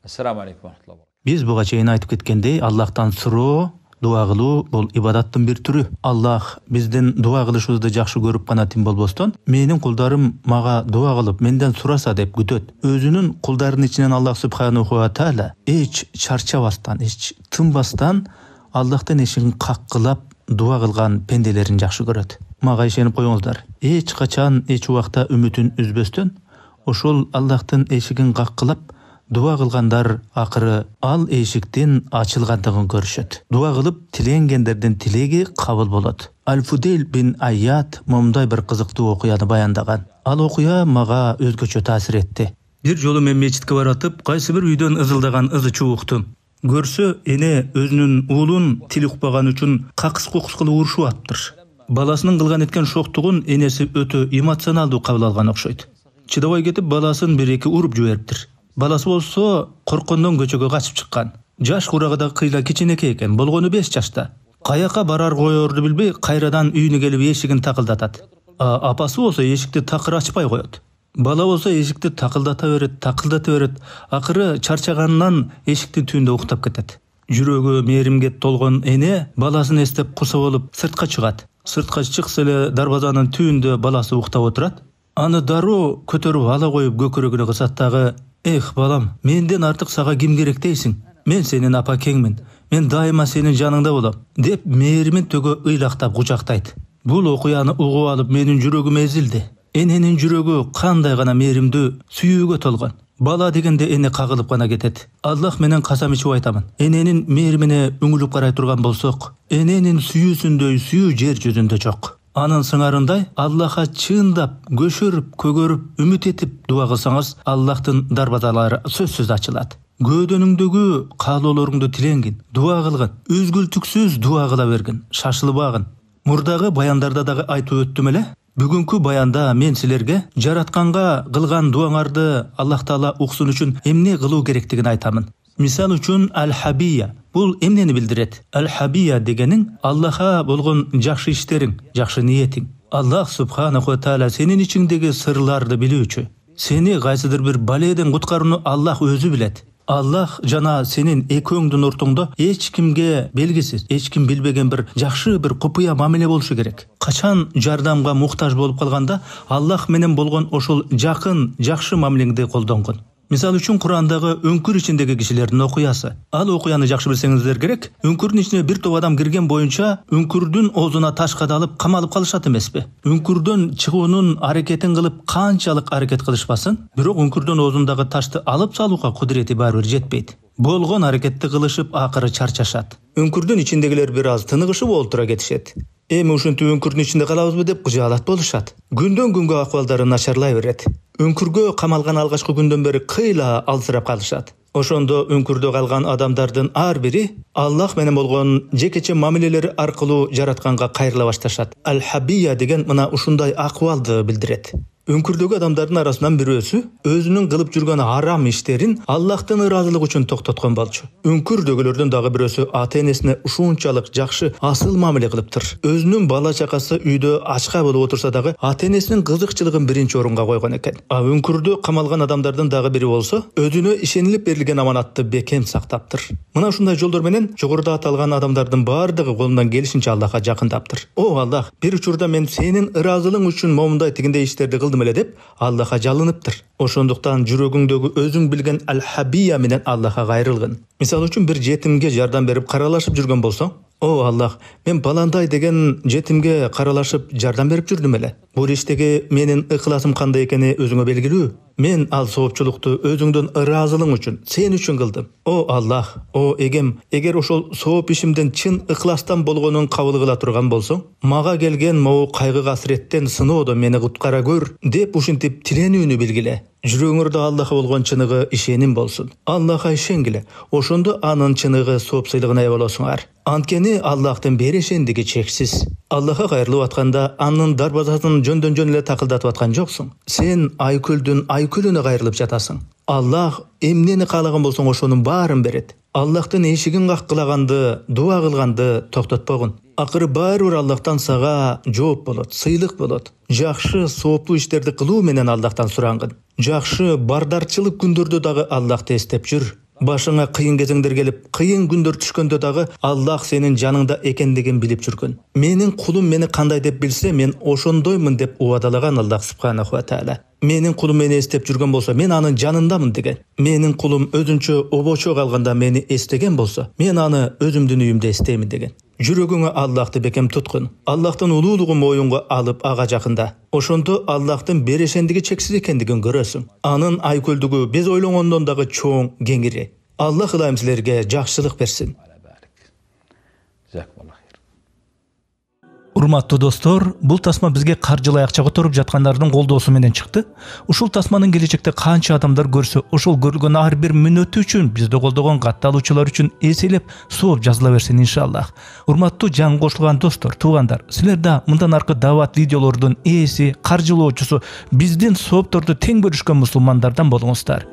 Assalamu alaikum. Биз буга чейин айтып кеткендей, Аллахтан суроо, дуа кылуу бул ибадаттын бир түрү. Аллах биздин дуа кылышыбызды жакшы көрүп гана тим болбостон, менин кулдарым мага дуа кылып, менден сураса деп күтөт. Өзүнүн кулдарынын ичинен Аллах субханаху ва тааля эч чарчабастан, эч тынбастан Аллахтын эшигин каккылап дуа кылган пенделерин жакшы көрөт. Мага ишенип коюңуздар. Эч качан, эч убакта үмүтүн үзбөстөн, ошол Аллахтын эшигин каккылап дуа кылгандар акыры ал эшиктин ачылгандыгын көрүшөт. Дуа кылып тиленгендердин тилеги кабыл болот. Аль-Фудейл бин Айят момундай бир кызыктуу окуяны баяндаган. Ал окуя мага өзгөчө таасир этти. Бир жолу мен мечитке баратып, кайсы бир үйдөн ызылдаган ызы чуу уктум. Көрсө, эне өзүнүн уулун тил укпаган үчүн какыс-кукус кылып урушуп атыптыр. Баласынын кылган эткен шоктугун энеси өтө эмоционалдуу кабыл алган окшойт. Чыдабай кетип, баласын бир-эки уруп жибериптир. Баласы болсо корккондон көчөгө качып чыккан. Жаш курагы да кыйла кичинекей экен, болгону 5 жашта. Каяка барар коерду билбей, кайрадан үйүнө келип эшигин такылдатат. Апасы болсо эшикти такыр ачпай коет. Бала болсо эшикти такылдата берет. Акыры чарчаганынан эшиктин түбүндө уктап кетет. Жүрөгү мээримге толгон эне баласын эстеп куса болуп сыртка чыгат. Сыртка чыкса эле дарбазанын түбүндө баласы уктап отурат. Аны дароо көтөрүп ала коюп көкүрөгүнө кысат дагы: "Эх, балам, менден артык сага ким керек дейсиң? Мен сенин апакеңмин. Мен дайыма сенин жаныңда болом", деп мээримин төгө ыйлактап кучактайт. Бул окуяны угуп алып менин жүрөгүм эзилди. Эненин жүрөгү кандай гана мээримдүү, сүйүүгө толгон. Бала дегенде эне кагылып гана кетет. Аллах менен касам ичип айтамын. Эненин мээримине үңүлүп карай турган болсок, эненин сүйүүсүндөй сүйүү жер жүзүндө жок. Анын сыңарындай Аллахка чындап, көшөрүп, көгөрүп, үмүт этип дуа кылсаңыз, Аллахтын дарбазалары сөзсүз ачылат. Көөдөнүңдөгү каалоолоруңду тилеңгин, дуа кылгын, үзгүлтүксүз дуа кыла бергин, шашылбагын. Мурдагы баяндарда дагы айтып өттүм эле. Бүгүнкү баянда мен силерге жаратканга кылган дуаңарды Аллах Таала уксун үчүн эмне кылуу керектигин айтамын. Мисал үчүн аль-хабия. Бул эмнени билдирет? Аль-хабия дегенин Аллахка болгон жакшы иштериң, жакшы ниетиң. Аллах субханаху ва тааля сенин ичиңдеги сырларды билүүчү. Сени кайсыдыр бир баледен куткарууну Аллах өзү билет. Аллах жана сенин экөөңдүн ортоңдо эч кимге белгисиз, эч ким билбеген бир жакшы бир купуя мамиле болушу керек. Качан жардамга муктаж болуп калганда Аллах менен болгон ошол жакын, жакшы мамилеңди колдонгон. Мисал үчүн Курандагы өңкүр ичиндеги кишилердин окуясы. Ал окуяны жакшы билсеңиздер керек. Өңкүрдүн ичине бир топ адам кирген боюнча өңкүрдүн оозуна таш кадалып камалып калышат эмеспи? Өңкүрдөн чыгуунун аракетин кылып канчалык аракет кылышпасын, бирок өңкүрдүн оозундагы ташты алып салууга кудурети баары бир жетпейт. Болгон аракетти кылышып акыры чарчашат. Өңкүрдүн ичиндегилер бир аз тыныгышып олтура кетишет. Эми ушинтип өңкүрдүн ичинде калабызбы деп кыжаалат болушат. Күндөн күнгө акыбалдары начарлай берет. Өңкүргө камалган алгачкы күндөн бери кыйла алсырап калышат. Ошондо өңкүрдө калган адамдардын ар бири Аллах менен болгон жекече мамилелери аркылуу жаратканга кайрыла башташат. Аль-хабия деген мына ушундай акыбалды билдирет. Өңкүрдөгү адамдардын арасынан бирөөсү өзүнүн кылып жүргөн арам иштерин Аллахтын ыраазылыгы үчүн токтоткон болчу. Өңкүрдөгүлөрдүн дагы бирөөсү ата-энесине ушунчалык жакшы, асыл мамиле кылыптыр. Өзүнүн бала чакасы үйдө ачка болуп отурса дагы ата-энесинин кызыкчылыгын биринчи орунга койгон экен. Өңкүрдө камалган адамдардын дагы бири болсо, өзүнө ишенилип берилген аманатты бекем сактаптыр. Мына ушундай жолдор менен жогоруда аталган адамдардын баардыгы колунан келишинче Аллахка жакындаптыр. О Аллах, бир учурда мен сенин ыраазылыгың үчүн момундай тигиндей иштерди кылдым эле деп Аллахка жалыныптыр. Ошондуктан жүрөгүңдөгү өзүң билген аль-хабия менен Аллахка кайрылгын. Мисал үчүн бир жетимге жардам берип каралашып жүргөн болсоң, о Аллах, мен баландай деген жетимге каралашып жардам берип жүрдүм эле. Бул иштеги менин ыхласым кандай экени өзүңө белгилүү. Мен ал соопчулукту өзүңдүн ыраазылыгың үчүн, сен үчүн кылдым. О Аллах, о эгем, эгер ошол сооп ишимден чын ыхластан болгонун кабыл кыла турган болсоң, мага келген могу кайгы касыреттен сыноодон мени куткара көр деп ушинтип тиленүүнү билгиле. Жүрөгүңөрдө Аллахка болгон чыныгы ишеним болсун. Аллахка ишенгиле. Ошондо анын чыныгы соопсуйлугуна ээ болосуңар. Анткени Аллахтын берешендиги чексиз. Аллахка кайрылып атканда анын дарбазасын жөндөн-жөн эле такылдатып аткан жоксуң. Сен айкөлдүн айкөлүнө кайрылып жатасың. Аллах эмнени каалаган болсоң ошонун баарын берет. Аллахтын эшигин каккылаганды, дуа кылганды токтотпогун. Акыры баары бир Аллахтан сага жооп болот, сыйлык болот. Жакшы, сооптуу иштерди кылуу менен Аллахтан сурангын. Жакшы, бардарчылык күндөрдө дагы Аллахты эстеп жүр. Башыңа кыйын кезеңдер келип, кыйын күндөр түшкөндө дагы Аллах сенин жаныңда экендигин билип жүргөн. Менин кулум мени кандай деп билсе, мен ошондоймун деп убадалаган Аллах субханаху ва тааля. Менин кулум мени эстеп жүргөн болсо, мен анын жанындамын деген. Менин кулум өзүнчө обочо калганда мени эстеген болсо, мен аны өзүмдүн үйүмдө эстеймин деген. Жүрөгүңө Аллахты бекем туткун. Аллахтын улуулугун моюнга алып ага жакында. Ошондо Аллахтын берешендиги чексиз экендигин көрөсүң. Анын айкөлдүгү биз ойлогондон дагы чоң, кеңири. Аллах ылайым силерге жакшылык берсин. Урматтуу достор, бул тасма бизге каржылай акча которуп жаткандардын колдоосу менен чыкты. Ушул тасманын келечекте канча адамдар көрсө, ошол көрүлгөн ар бир мүнөтү үчүн, бизди колдогон катталуучулар үчүн эселеп сооп жазыла берсин иншаллах. Урматтуу жаңы кошулган достор, туугандар, силер да мындан аркы дават видеолордун ээси, каржылоочусу, биздин соопторду тең бөлүшкөн мусулмандардан болуңуздар.